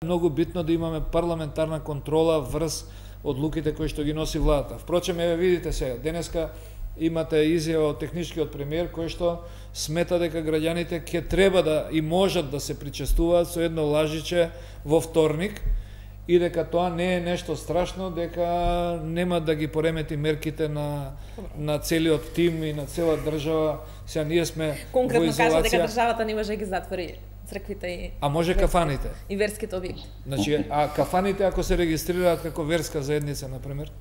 Многу битно да имаме парламентарна контрола врз одлуките кои што ги носи владата. Впрочем, еве видите сега, денеска имате изјава од техничкиот премиер кој што смета дека граѓаните ќе треба да и можат да се причестуваат со едно лажиче во вторник и дека тоа не е нешто страшно, дека нема да ги поремети мерките на целиот тим и на цела држава. Сега ние сме конкретно во изолација. кажа дека државата не може да ги затвори црквите и А може кафаните? И верските објекти. Значи, а кафаните ако се регистрираат како верска заедница, например?